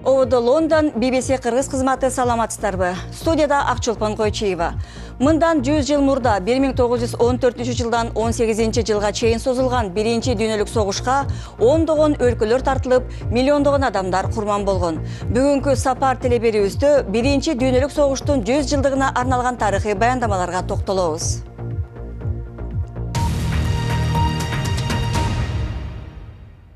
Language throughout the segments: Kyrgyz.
ОВД Лондон, BBC Кыргыз кызматы саламатсыздарбы? Студияда Акчолпон Койчиева. Мындан 100 жыл мурда 1914-жылдан 18-жылга чейин созулган биринчи дүйнөлүк согушка ондогон өлкөлөр тартылып, миллиондогон адамдар курман болгон. Бүгүнкү сапар телеберүүбүздө биринчи дүйнөлүк согуштун 100 жылдыгына арналган тарыхый баяндамаларга токтолобуз.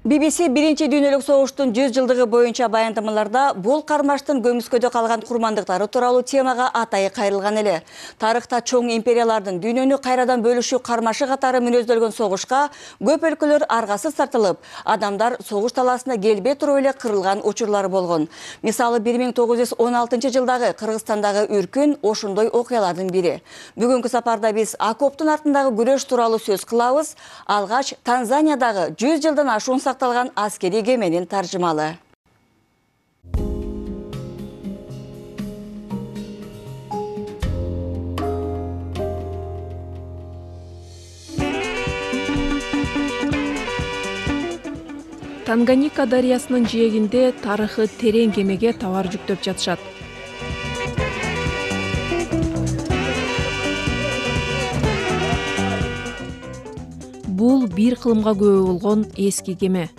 BBC биринчи дүйнөлүк согуштун 100 жылдыгы боюнча баяндамаларда бул кармаштын көмүскөдө калган курмандыктары тууралуу темага атайы кайрылган эле. Тарыхта чоң империялардын дүйнөнү кайрадан бөлүшүү кармашы катары мүнөздөлгөн согушка көп өлкөлөр аргасыз тартылып, адамдар согуш талаасына келбей туруп эле кырылган учурлары болгон. Мисалы 1916-жылдагы Кыргызстандагы үркүн ошондой окуялардын бири. Бүгүнкү сапарда биз окоптун артындагы күрөш тууралуу сөз кылабыз. Алгач Танзаниядагы 100 жылдан ашуун сакталган аскери кеменин таржымалы. Танганьика дарыясынын жээгинде тарыхы терең кемеге товар жүктөп жатышат. Бул бир кылымга күбө болгон эски кеме.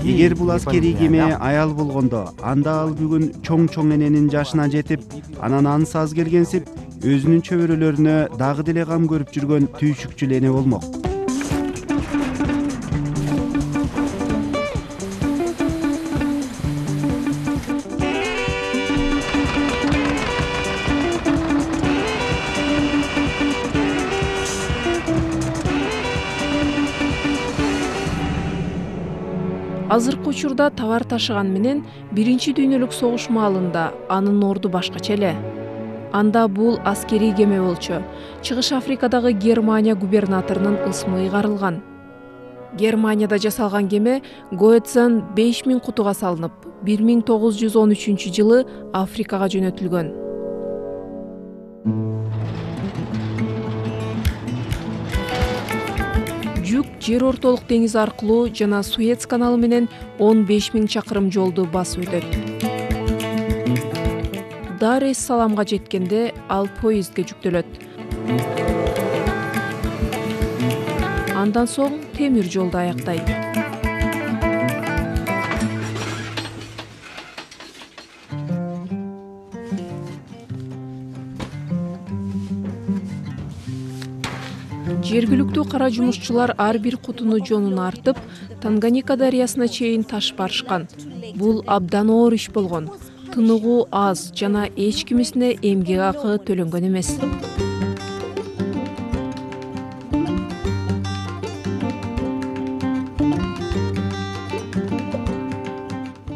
Эгер бул аскерий кеме аял болгондо, анда ал бүгүн чоң эненин жашына жетип, анан ансыз келгенсип, өзүнүн чөбөрөлөрүнө дагы деле кам көрүп жүргөн түйшүкчү эне болмок. Азыркы учурда товар ташыган менен биринчи дүйнөлүк согуш маалында анын орду башкача эле. Анда бул аскерий кеме болчу. Чыгыш Африкадагы Германия губернаторунун ысмы ыйгарылган. Германияда жасалган кеме Гоэтсен 5000 кутуга салынып, 1913-жылы Африкага жөнөтүлгөн. Жүк жер ортолук деңиз аркылуу жана Суэц каналы менен 15000 чакырым жолду басып өтөт. Дар-эс-Саламга жеткенде ал поездге жүктөлөт. Андан соң темир жолду аяктайт. Жергиликтүү кара жумушчулар ар бир кутуну жонуна артып, Танганьика дарыясына чейин ташып барышкан. Бул абдан оор иш болгон. Тыныгуу аз жана эч кимисине эмгек акы төлөнгөн эмес.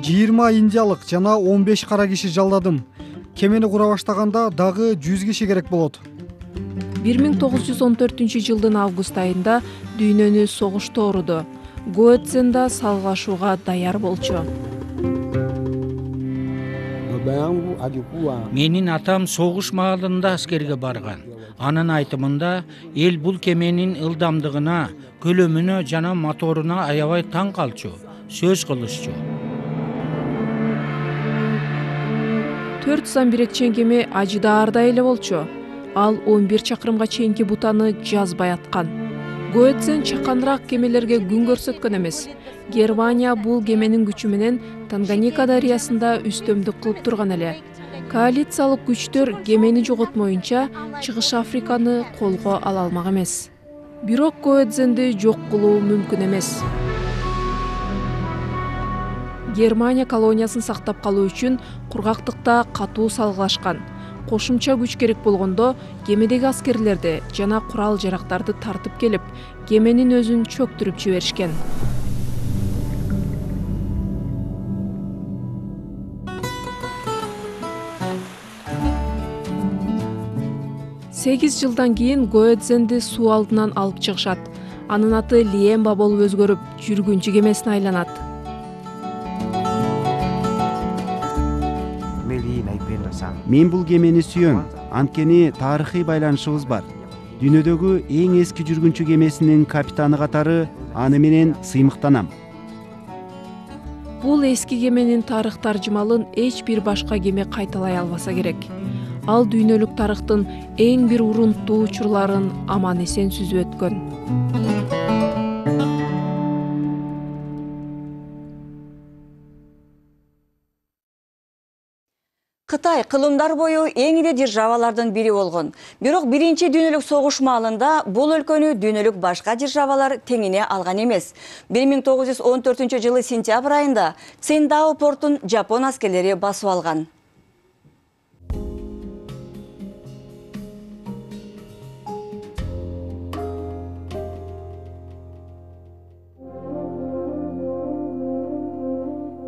Индиялык жана 15 кара киши жалдадым. Кемени кура баштаганда дагы 100 киши керек болот. 1914-жылдын август айында дүйнөнү согуш тооруду. Гоэтсенда салгылашууга даяр болчу. Менин атам согуш маалында аскерге барган. Анын айтымында эл бул кеменин ылдамдыгына, көлөмүнө жана моторуна аябай таң калчу, сөз кылышчу. 4 самбирекчен кеме ажыдаардай эле болчу. Ал 11 чакырымга чейинки бутаны жазбай аткан. Гоэтсен чаканраак кемелерге күн көрсөткөн эмес. Германия бул кеменин күчү менен Танганьика дарыясында үстөмдүк кылып турган эле. Коалициялык күчтөр кемени жоготмоюнча Чыгыш Африканы колго ала алмак эмес. Бирок Гоэтсенди жок кылуу мүмкүн эмес. Германия колониясын сактап калуу үчүн кургактыкта катуу салгылашкан. Кошумча күч керек болгондо кемедеги аскерлерди жана курал-жарактарды тартып келип, кеменин өзүн чөктүрүп жиберишкен. Сегиз жылдан кийин Гоэтсенди суу алдынан алып чыгышат. Анын аты Лиемба болуп өзгөрүп, жүргүнчү кемесине айланат. Мен бул кемени сүйөм, анткени тарыхый байланышыбыз бар. дүйнөдөгү эң эски жүргүнчү кемесинин капитаны катары аны менен сыймыктанам. Бул эски кеменин тарых таржымалын эч бир башка кеме кайталай албаса керек. Ал дүйнөлүк тарыхтын эң бир урунттуу учурларын аман эсен сүзүп өткөн. Кытай кылымдар бою эң ири державалардын бири болгон. Бирок биринчи дүйнөлүк согуш маалында бул өлкөнү дүйнөлүк башка державалар теңине алган эмес. 1914-жылы сентябрь айында Циндао портун жапон аскерлери басып алган.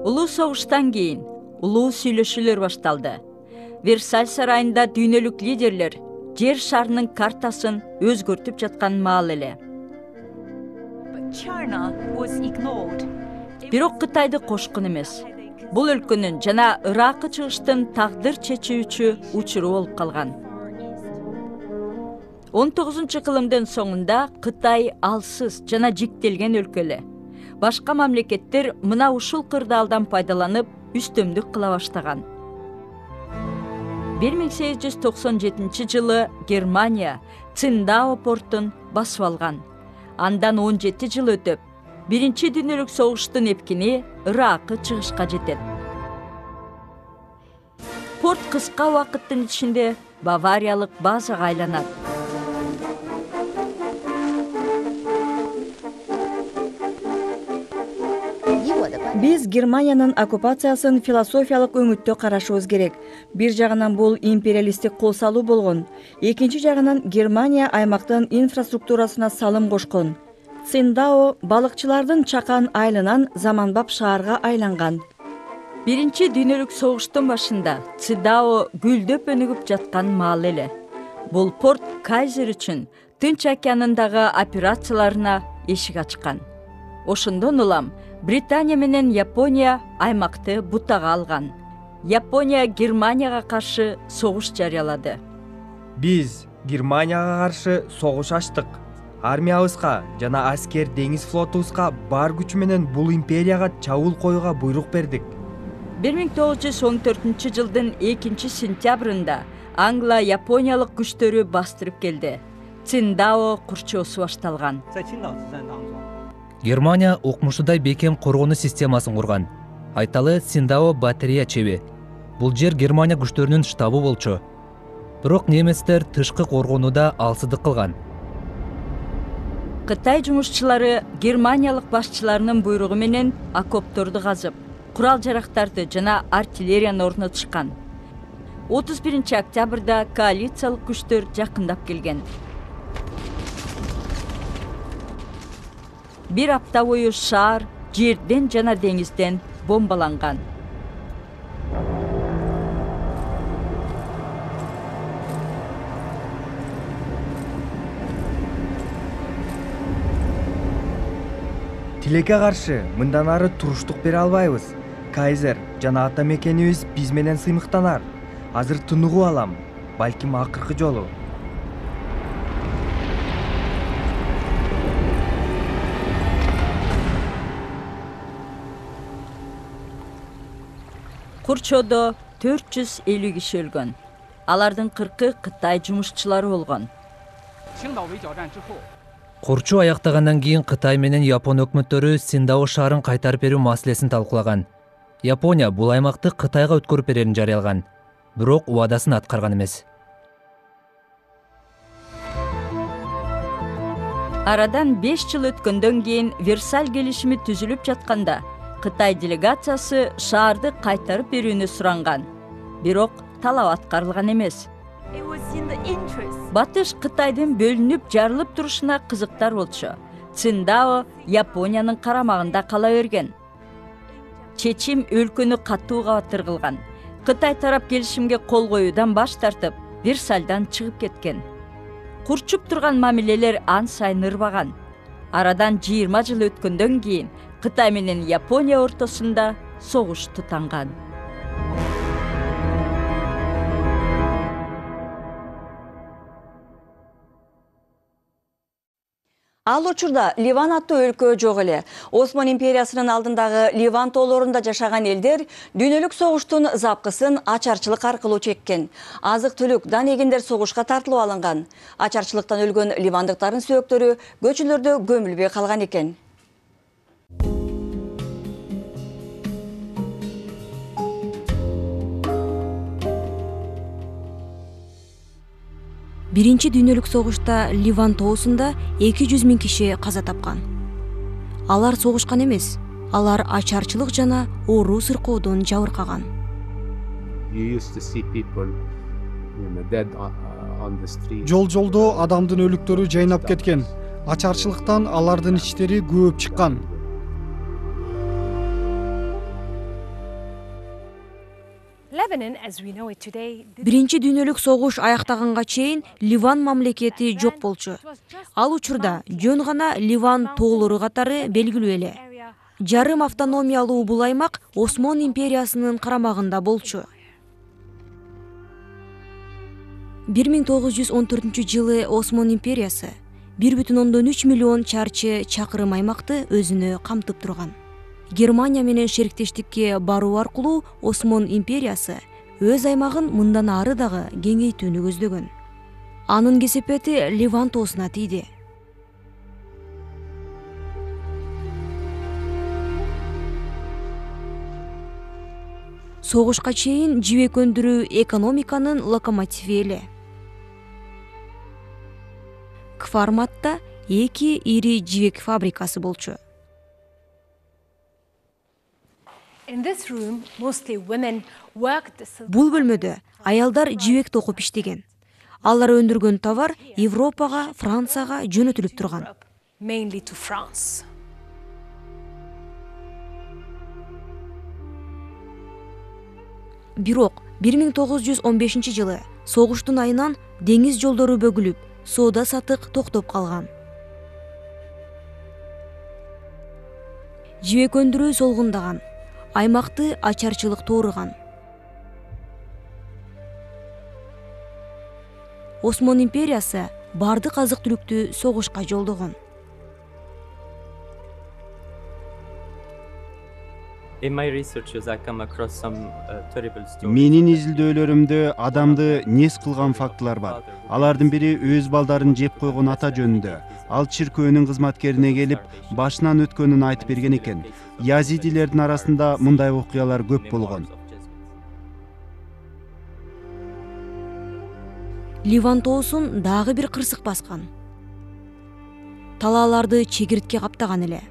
Улуу согуштан кийин улуу сүйлөшүүлөр башталды. Версаль сарайында дүйнөлүк лидерлер жер шарынын картасын өзгөртүп жаткан маал эле. Бирок Кытайды кошкун эмес. Бул өлкөнүн жана Ыракы чыгыштын тагдыр чечүүчү учуру болуп калган. 19-кылымдын соңунда Кытай алсыз жана жиктелген өлкө эле. Башка мамлекеттер мына ушул кырдаалдан пайдаланып үстөмдүк кыла баштаган. 1897-жылы Германия Циндао портун басып алган. Андан 17 жыл өтүп, биринчи дүйнөлүк согуштун эпкини Ыракы чыгышка жетет. Порт кыска убакыттын ичинде бавариялык базага айланат. Биз Германиянын оккупациясын философиялык өңүттө карашыбыз керек. Бир жагынан бул империалисттик кол салуу болгон. Экинчи жагынан Германия аймактын инфраструктурасына салым кошкон. Циндао балыкчылардын чакан айылынан заманбап шаарга айланган. Биринчи дүйнөлүк согуштун башында Циндао гүлдөп өнүгүп жаткан маал эле. Бул порт Кайзер үчүн Тынч океанындагы операцияларына эшик ачкан. Ошондон улам Британия менен Япония аймакты бутага алган. Япония Германияга каршы согуш жарыялады. Биз Германияга каршы согуш ачтык. Армиябызга жана аскер деңиз флотубузга бар күчү менен бул империяга чабуул коюуга буйрук бердик. 1914-жылдын 2-сентябрында Англа Япониялык күчтөрү бастырып келди. Циндао курчоосу башталган. Германия укмушудай бекем коргонуу системасын курган. Айталы Циндао батарея чеби. Бул жер Германия күчтөрүнүн штабы болчу. Бирок немецтер тышкы коргонууда алсыздык кылган. Кытай жумушчулары германиялык башчыларынын буйругу менен окопторду казып, курал-жарактарды жана артиллерияны орнотушкан. 31-октябрда коалициялык күчтөр жакындап келген. Бир апта бою шаар жерден жана деңизден бомбаланган. Тилекке каршы мындан ары туруштук бере албайбыз. Кайзер жана ата мекенибиз биз менен сыймыктанар. Азыр тыныгуу алам, балким акыркы жолу. Курчоодо 450 киши өлгөн. Алардын 40-ы Кытай жумушчулары болгон. Курчу аяктагандан кийин Кытай менен Япон өкмөттөрү Циндао шаарын кайтарып берүү маселесин талкуулаган. Япония бул аймакты Кытайга өткөрүп берерин жарыялаган. Бирок убадасын аткарган эмес. Арадан 5 жыл өткөндөн кийин Версаль келишими түзүлүп жатканда Кытай делегациясы шаарды кайтарып берүүнү суранган. Бирок талап аткарылган эмес. Батыш Кытайдын бөлүнүп жарылып турушуна кызыктар болчу. Циндао Япониянын карамагында кала берген. Чечим өлкөнү катууга батыргылган. Кытай тарап келишимге кол коюудан баш тартып, Версальдан чыгып кеткен. Курчуп турган мамилелер ан сайын ырбаган. Арадан 20 жыл өткөндөн кийин Кытай менен Япония ортосунда согуш тутанган. Ал учурда Ливан аттуу өлкө жок эле. Осман империясынын алдындагы Ливан тоолорунда жашаган элдер дүйнөлүк согуштун запкысын ачарчылык аркылуу чеккен. Азык-түлүк, дан эгиндер согушка тартылып алынган. Ачарчылыктан өлгөн ливандыктардын сөөктөрү көчөлөрдө көмүлбөй калган экен. Биринчи дүйнөлүк согушта Ливан тоосунда 200 000 киши каза тапкан. Алар согушкан эмес, алар ачарчылык жана оору сыркоодон жабыркаган. Жол-жолдо адамдын өлүктөрү жайнап кеткен. Ачарчылыктан алардын ичтери көөп чыккан. Биринчи дүйнөлүк согуш аяктаганга чейин Ливан мамлекети жок болчу. Ал учурда жөн гана Ливан тоолору катары белгилүү эле. Жарым автономиялуу бул аймак Осман империясынын карамагында болчу. 1914-жылы Осман империясы 1,3 миллион чарчы чакырым аймакты өзүнө камтып турган. Германия менен шериктештикке баруу аркылуу Осман империясы өз аймагын мындан ары дагы кеңейтүүнү көздөгөн. Анын кесепети Ливан тоосуна тийди. Согушка чейин жибек өндүрүү экономиканын локомотиви эле. Кфарматта 2 ири жибек фабрикасы болчу. Бул бөлмөдө аялдар жибек токуп иштеген. Алар өндүргөн товар Европага, Францияга жөнөтүлүп турган. Бирок 1915-жылы согуштун айынан деңиз жолдору бөгүлүп, соода сатык токтоп калган. Жибек өндүрүү солгундаган. Аймакты ачарчылык тоорugан. Осман империясы бардык азык-түлүктү согушка жолдогон. Менин изилдөөлөрүмдө адамды нес кылган фактылар бар. Алардын бири өз балдарын жеп койгон ата жөнүндө. Ал чиркөөнүн кызматкерине келип, башынан өткөнүн айтып берген экен. Язидилердин арасында мындай окуялар көп болгон. Ливан тоосун дагы бир кырсык баскан. Талааларды чегиртке каптаган эле.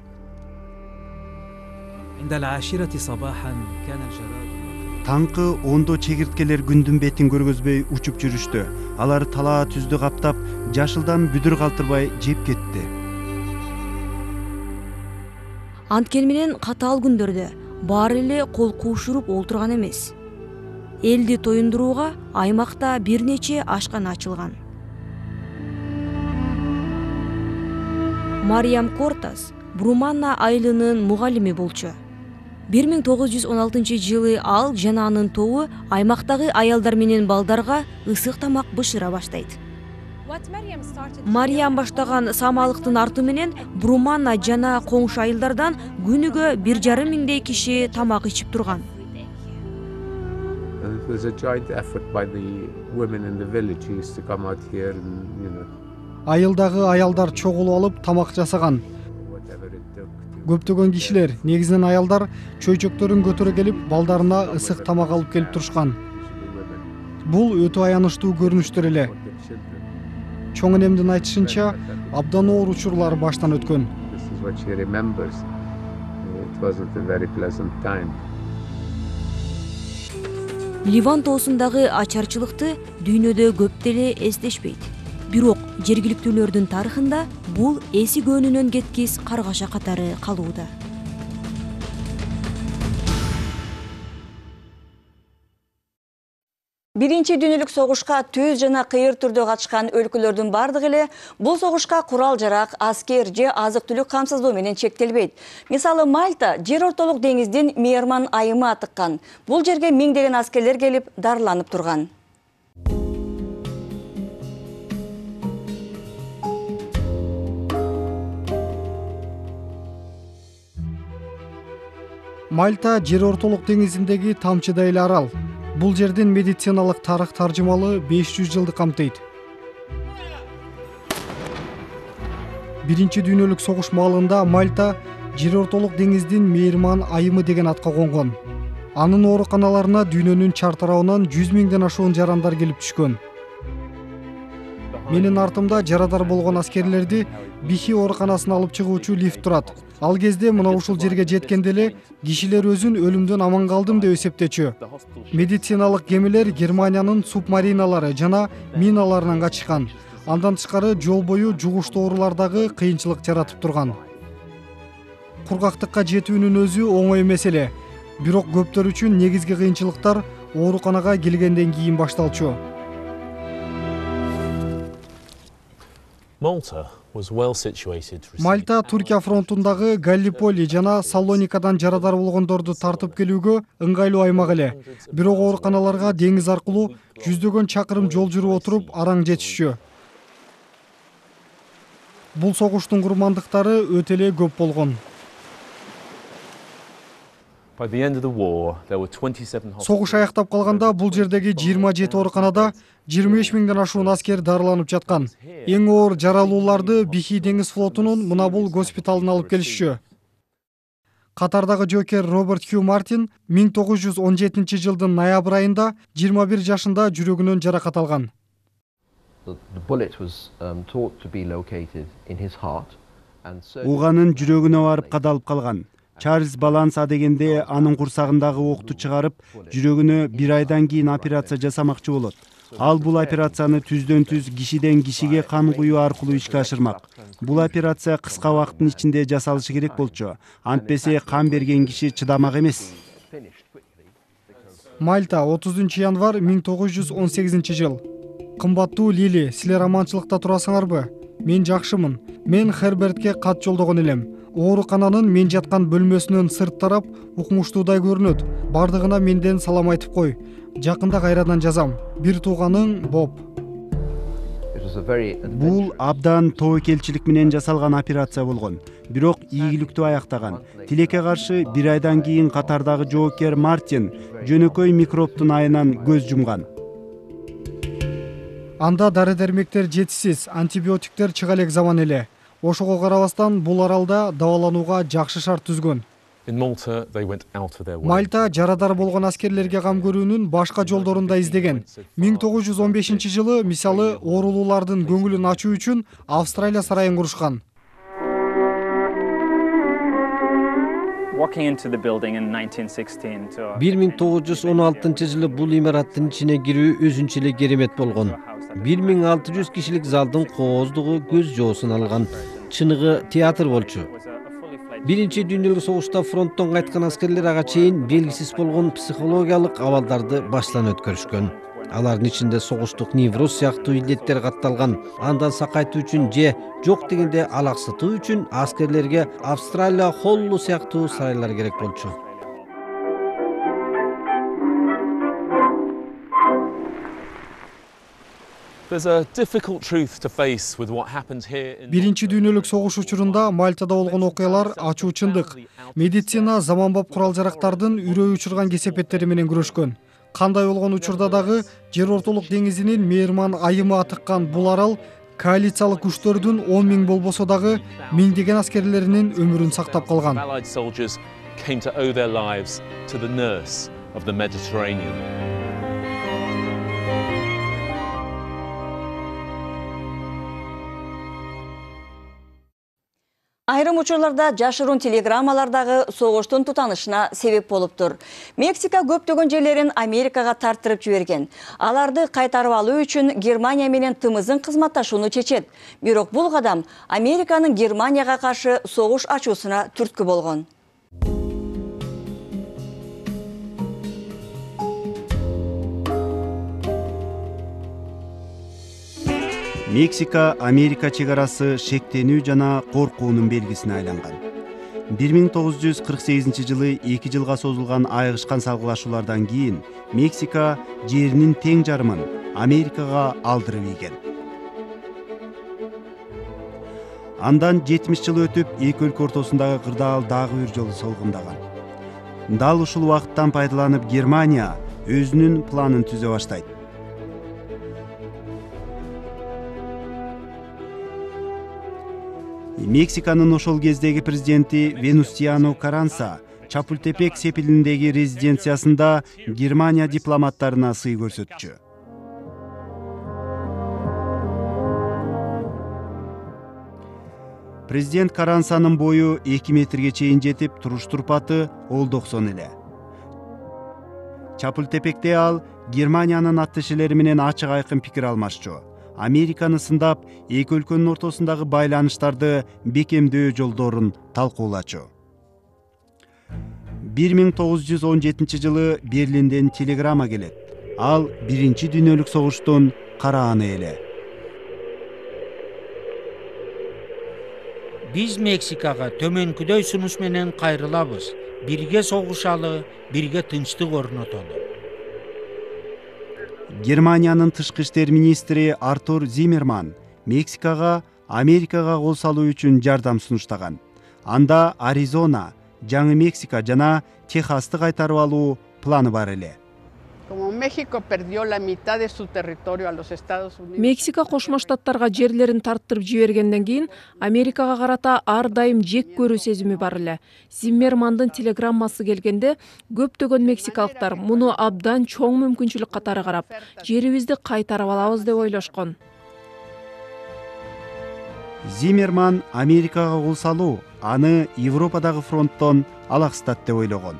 Таңкы 10-до чегирткелер күндүн бетин көргөзбөй учуп жүрүштү. Алар талаа түздү каптап, жашылдан бүдүр калтырбай жеп кетти. Анткени менен катаал күндөрдө баары эле кол куушуруп олтурган эмес. Элди тоюндурууга аймакта бир нече ашкана ачылган. Мариям Кортас Бруманна айылынын мугалими болчу. 1916-жылы ал жана анын тобу аймактагы аялдар менен балдарга ысык тамак бышыра баштайт. Мариям баштаган самалыктын арты менен Бруманна жана коңшу айылдардан күнүгө 1,5 миңдей киши тамак ичип турган. Айылдагы аялдар чогулуп алып тамак жасаган. Көптөгөн кишилер, негизинен аялдар, чөйчөктөрүн көтөрө келип, балдарына ысык тамак алып келип турушкан. Бул өтө аянычтуу көрүнүштөр эле. Чоң энемдин айтышынча, абдан оор учурлар баштан өткөн. Ливан тоосундагы ачарчылыкты дүйнөдө көп деле эстешпейт. Бирок жергиликтүүлөрдүн тарыхында бул эси көөнүнөн кеткис каргаша катары калууда. Биринчи дүйнөлүк согушка түз жана кыйыр түрдө катышкан өлкөлөрдүн бардыгы эле бул согушка курал-жарак, аскер же азык-түлүк камсыздоо менен чектелбейт. Мисалы, Мальта жер ортолук деңиздин мейырман айымы атыккан. Бул жерге миңдеген аскерлер келип дарыланып турган. Мальта жер ортолук деңизиндеги тамчыдай эле арал. Бул жердин медициналык тарых таржымалы 500 жылды камтыйт. Биринчи дүйнөлүк согуш маалында Мальта жер ортолук деңиздин мейирман айымы деген атка конгон. Анын ооруканаларына дүйнөнүн чар тарабынан 100 миңден ашуун жарандар келип түшкөн. Менин артымда жарадар болгон аскерлерди Бихи ооруканасына алып чыгуучу лифт турат. Ал кезде мына ушул жерге жеткенде эле кишилер өзүн өлүмдөн аман калдым деп эсептечү. Медициналык кемелер Германиянын субмариналары жана миналарынан качышкан. Андан тышкары жол бою жугуштуу оорулардагы кыйынчылык жаратып турган. Кургактыкка жетүүнүн өзү оңой эмес эле. Бирок көптөр үчүн негизги кыйынчылыктар ооруканага келгенден кийин башталчу. Мальта Туркия фронтундагы Галлиполи жана Салоникадан жарадар болгондорду тартып келүүгө ыңгайлуу аймак эле. Бирок ооруканаларга деңиз аркылуу жүздөгөн чакырым жол жүрүп отуруп араң жетишчү. Бул согуштун курмандыктары өтө эле көп болгон. Согуш аяктап калганда бул жердеги 27 ооруканада 25 миңден ашуун аскер дарыланып жаткан. Эң оор жаралууларды Бихи деңиз флотунун мына бул госпиталына алып келишчү. Катардагы жокер Роберт Хью Мартин 1917 жылдын ноябрь айында 21 жашында жүрөгүнөн жаракат алган. Уганын жүрөгүнө барып кадалып калган. Чарльз Баланса дегенде анын курсагындагы окту чыгарып, жүрөгүнө 1 айдан кийин операция жасамакчы болот. Ал бул операцияны түздөн түз кишиден кишиге кан куюу аркылуу ишке ашырмак. Бул операция кыска убакыттын ичинде жасалышы керек болчу. Антпесе кан берген киши чыдамак эмес. Мальта 30 январь 1918 жыл. Кымбаттуу Лили, силер аманчылыкта турасыңарбы? Мен жакшымын. Мен Хербертке кат жолдогон элем. Оорукананын мен жаткан бөлмөсүнөн сырт тарап укмуштуудай көрүнөт. Бардыгына менден салам айтып кой. Жакында кайрадан жазам. Бир тууганың Боб. Бул абдан тобокелчилик менен жасалган операция болгон. Бирок ийгиликтүү аяктаган. Тилекке каршы 1 айдан кийин Катардагы жоокер Мартин жөнөкөй микробтун айынан көз жумган. Анда дары-дармектер жетишсиз, антибиотиктер чыга элек заман эле. Ошого карабастан бул аралда дабаланууга жакшы шарт түзгөн. Мальта жарадар болгон аскерлерге кам көрүүнүн башка жолдорун да издеген. 1915 жылы мисалы оорулуулардын көңүлүн ачуу үчүн Австралия сарайын курушкан. 1916 жылы бул имараттын ичине кирүү өзүнчө эле керемет болгон. 1600 кишилик залдын кооздугу көз жоосун алган. Чыныгы театр болчу. Биринчи дүйнөлүк согушта фронттон кайткан аскерлер ага чейин белгисиз болгон психологиялык абалдарды баштан өткөрүшкөн. Алардын ичинде согуштук невроз сыяктуу илдеттер катталган. Андан сакайтуу үчүн же жок дегенде алаксытуу үчүн аскерлерге Австралия Холлу сыяктуу сарайлар керек болчу. Биринчи дүйнөлүк согуш учурунда Мальтада болгон окуялар ачуу чындык. Медицина заманбап курал-жарактардын үрөй учурган кесепеттери менен күрөшкөн. Кандай болгон учурда дагы жер ортолук деңизинин мейирман айымы атыккан бул арал коалициялык күчтөрдүн 10 миң болбосо дагы миңдеген аскерлеринин өмүрүн сактап калган. Айрым учурларда жашыруун телеграммалардагы согуштун тутанышына себеп болуптур. Мексика көптөгөн жерлерин Америкага тарттырып жиберген. Аларды кайтарып алуу үчүн Германия менен тымызын кызматташууну чечет. Бирок бул кадам Американын Германияга каршы согуш ачуусуна түрткү болгон. Мексика Америка чек арасы шектенүү жана коркуунун белгисине айланган. 1948 жылы 2 жылга созулган айыгышкан салгылашуулардан кийин Мексика жеринин тең жарымын Америкага алдырып ийген. Андан 70 жыл өтүп, эки өлкө ортосундагы кырдаал дагы бир жолу солгундаган. Дал ушул убакыттан пайдаланып Германия өзүнүн планын түзө баштайт. Мексиканын ошол кездеги президенти Венустиано Каранса Чапултепек сепилиндеги резиденциясында Германия дипломаттарына сый көрсөтчү. Президент Карансанын бою 2 метрге чейин жетип, туруш турпаты ол 90 эле. Чапултепекте ал Германиянын атташелери менен ачык айкын пикир алмашчу. Американы сындап, эки өлкөнүн ортосундагы байланыштарды бекемдөө жолдорун талкуулачу. 1917 жылы Берлинден телеграмма келет. Ал Биринчи дүйнөлүк согуштун карааны эле. Биз Мексикага төмөнкүдөй сунуш менен кайрылабыз. Бирге согушалы, бирге тынчтык орнотолу. Германиянын тышкы иштер министри Артур Зиммерман Мексикага Америкага кол салуу үчүн жардам сунуштаган. Анда Аризона, Жаңы Мексика жана Техасты кайтарып алуу планы бар эле. Мексика Кошмо Штаттарга жерлерин тарттырып жибергенден кийин Америкага карата ар дайым жек көрүү сезими бар эле. Зиммермандын телеграммасы келгенде көптөгөн мексикалыктар муну абдан чоң мүмкүнчүлүк катары карап, жерибизди кайтарып алабыз деп ойлошкон. Зиммерман Америкага кол салуу аны Европадагы фронттон алаксытат деп ойлогон.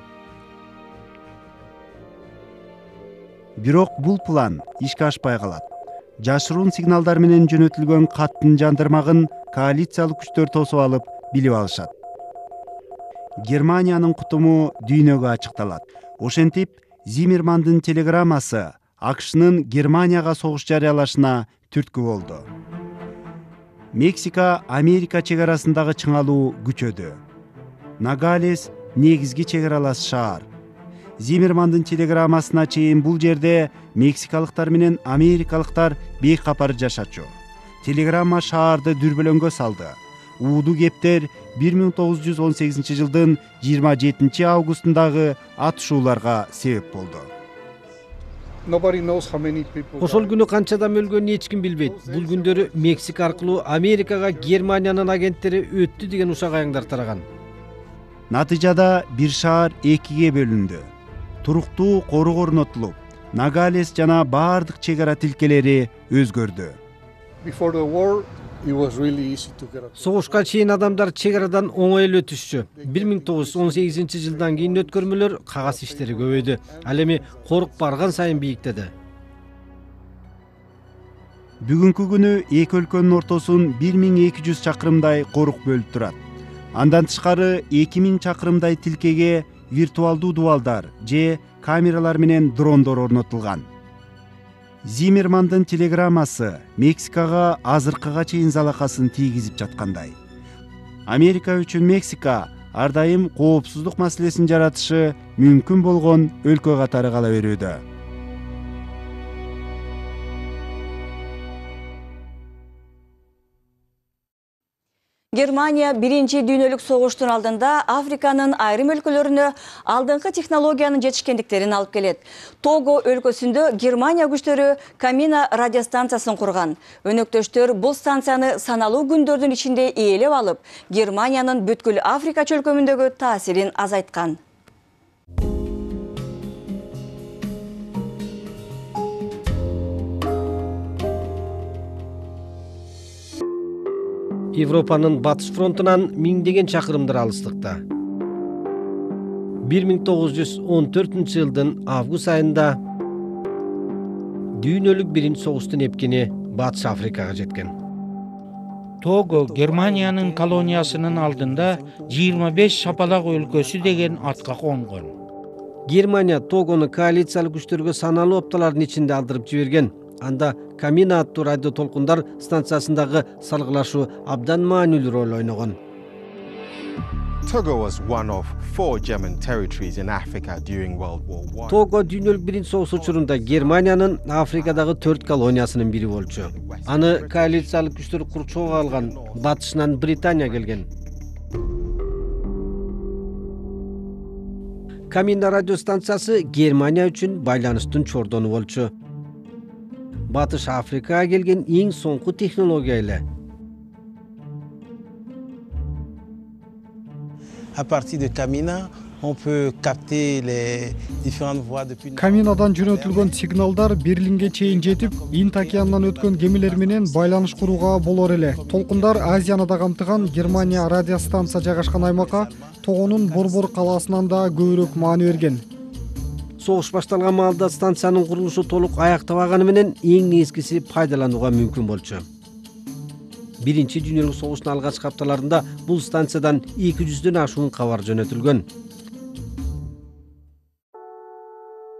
Бирок бул план ишке ашпай калат. Жашыруун сигналдар менен жөнөтүлгөн каттын жандырмагын коалициялык күчтөр тосуп алып, билип алышат. Германиянын кутуму дүйнөгө ачыкталат. Ошентип, Зиммермандын телеграммасы АКШнын Германияга согуш жарыялашына түрткү болду. Мексика Америка чек арасындагы чыңалуу күчөдү. Нагалес негизги чек аралас шаар. Зиммермандын телеграммасына чейин бул жерде мексикалыктар менен америкалыктар бейкапар жашачу. Телеграмма шаарды дүрбөлөңгө салды. Ууду кептер 1918 жылдын 27 августундагы атышууларга себеп болду. Ошол күнү канча адам өлгөнүн эч ким билбейт. Бул күндөрү Мексика аркылуу Америкага Германиянын агенттери өттү деген ушак аяңдар тараган. Натыйжада бир шаар экиге бөлүндү. Туруктуу корук орнотулуп, Нагалес жана баардык чек ара тилкелери өзгөрдү. Согушка чейин адамдар чек арадан оңой эле өтүшчү. 1918 жылдан кийин өткөрмөлөр, кагаз иштери көбөйдү. Ал эми корук барган сайын бийиктеди. Бүгүнкү күнү эки өлкөнүн ортосун 1200 чакырымдай корук бөлүп турат. Андан тышкары 2000 чакырымдай тилкеге виртуалдуу дубалдар же камералар менен дрондор орнотулган. Зиммермандын телеграммасы Мексикага азыркыга чейин залакасын тийгизип жаткандай. Америка үчүн Мексика ар дайым коопсуздук маселесин жаратышы мүмкүн болгон өлкө катары кала берүүдө. Германия биринчи дүйнөлүк согуштун алдында Африканын айрым өлкөлөрүнө алдыңкы технологиянын жетишкендиктерин алып келет. Того өлкөсүндө Германия күчтөрү Камина радиостанциясын курган. Өнөктөштөр бул станцияны саналуу күндөрдүн ичинде ээлеп алып, Германиянын бүткүл Африка чөлкөмүндөгү таасирин азайткан. Европанын батыш фронтунан миңдеген чакырымдар алыстыкта. 1914 жылдын август айында дүйнөлүк биринчи согуштун эпкини Батыш Африкага жеткен. Того Германиянын колониясынын алдында 25 шапалак өлкөсү деген атка конгон. Германия Тогону коалициялык күчтөргө саналуу апталардын ичинде алдырып жиберген. Анда Камина аттуу радио толкундар станциясындагы салгылашуу абдан маанилүү роль ойногон. Togo was one of 4 German territories in Africa during World War I. Того дүйнөлүк биринчи согуш учурунда Германиянын Африкадагы 4 колониясынын бири болчу. Аны коалициялык күчтөр курчоого алган, батышынан Британия келген. Камина радио станциясы Германия үчүн байланыштын чордону болчу. Батыш Африкага келген эң соңку технология эле. À partir de Camina, on peut capter les différentes voies depuis. Каминадан жөнөтүлгөн сигналдар Берлинге чейин жетип, Инд океанынан өткөн кемелер менен байланыш курууга болор эле. Толкундар Азияны да камтыган Германия радиостанция жайгашкан аймакка Тогонун Борбор калаасынан да көбүрөөк маани берген. Согуш башталган маалда станциянын курулушу толук аяктабаганы менен эң эскиси пайдаланууга мүмкүн болчу. Биринчи дүйнөлүк согуштун алгачкы апталарында бул станциядан 200дөн ашуун кабар жөнөтүлгөн.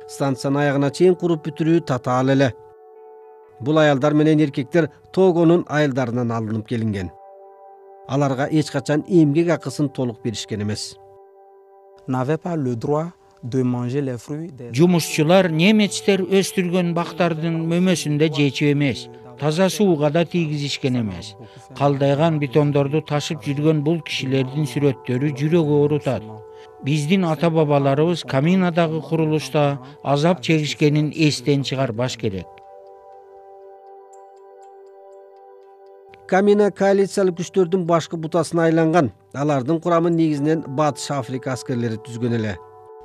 Станциянын аягына чейин куруп бүтүрүү татаал эле. Бул аялдар менен эркектер Тогонун айылдарынан алынып келинген. Аларга эч качан эмгек акысын толук беришкен эмес. Жумушчулар немецтер өстүргөн бактардын мөмөсүндө жечип эмес, таза сууга да тийгизишкен эмес. Калдайган бетондорду ташып жүргөн бул кишилердин сүрөттөрү жүрөк оорутат. Биздин ата-бабаларыбыз Каминадагы курулушта азап чегишкенин эстен чыгарбаш керек. Камина коалициялык күчтөрдүн башкы бутасына айланган. Алардын курамын негизинен Батыш Африка аскерлери түзгөн эле.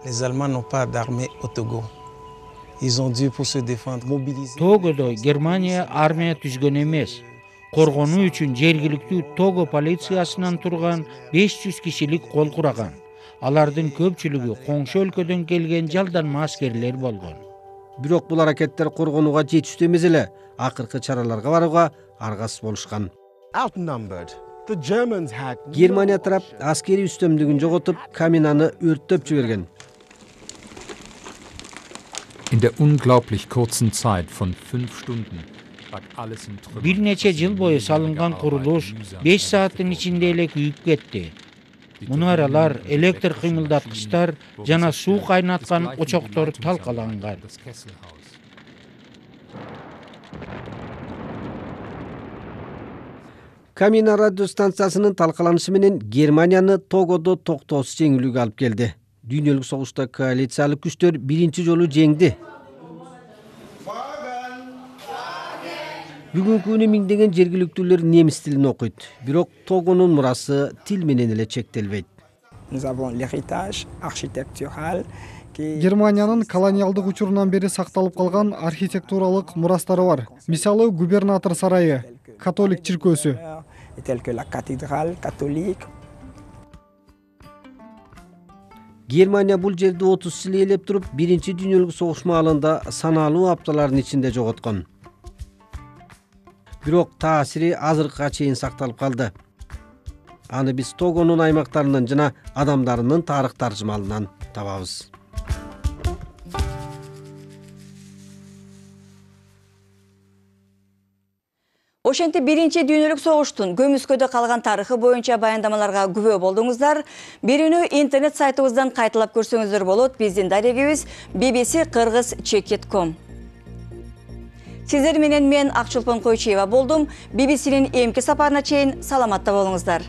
Les Allemands n'ont pas d'armée au Togo. Ils ont dû pour se défendre mobiliser. Тогодо Германия армия түзгөн эмес. Коргонуу үчүн жергиликтүү Того полициясынан турган 500 кишилик кол кураган. Алардын көпчүлүгү коңшу өлкөдөн келген жалданма аскерлер болгон. Бирок бул аракеттер коргонууга жетиштүү эмес эле. Акыркы чараларга барууга аргасыз болушкан. Outnumbered, the Germans had Германия тарап аскери үстөмдүгүн жоготуп, Каминаны өрттөп жиберген. In der unglaublich kurzen Zeit von 5 Stunden lag alles in Trümmern. Бир нече жыл бою салынган курулуш 5 сааттын ичинде эле күйүп кетти. Мунаралар, электр кыймылдаткычтар жана суу кайнаткан очоктор талкаланган. Камина радио станциясынын талкаланышы менен Германияны Тогодо токтоосуз жеңилүүгө алып келди. Дүйнөлүк согушта коалициялык күчтөр биринчи жолу жеңди. Бүгүнкү күнү миңдеген жергиликтүүлөр немис тилин окуйт. Бирок Тогонун мурасы тил менен эле чектелбейт. Германиянын колониалдык учурунан бери сакталып калган архитектуралык мурастары бар. Мисалы, губернатор сарайы, католик чиркөөсү. Германия бул жерди 30 жыл ээлеп туруп, биринчи дүйнөлүк согуш маалында саналуу апталардын ичинде жоготкон. Бирок таасири азыркыга чейин сакталып калды. Аны биз Тогонун аймактарынан жана адамдарынын тарых таржымалынан табабыз. Ошентип биринчи дүйнөлүк согуштун көмүскөдө калган тарыхы боюнча баяндамаларга күбө болдуңуздар. Бирүүнү интернет сайтыбыздан кайталап көрсөңүздөр болот. Биздин дарегибиз bbc-kırgız.com. Сиздер менен мен Акчулпан Койчуева болдум. BBC-нин эмки сапарына чейин саламатта болуңуздар.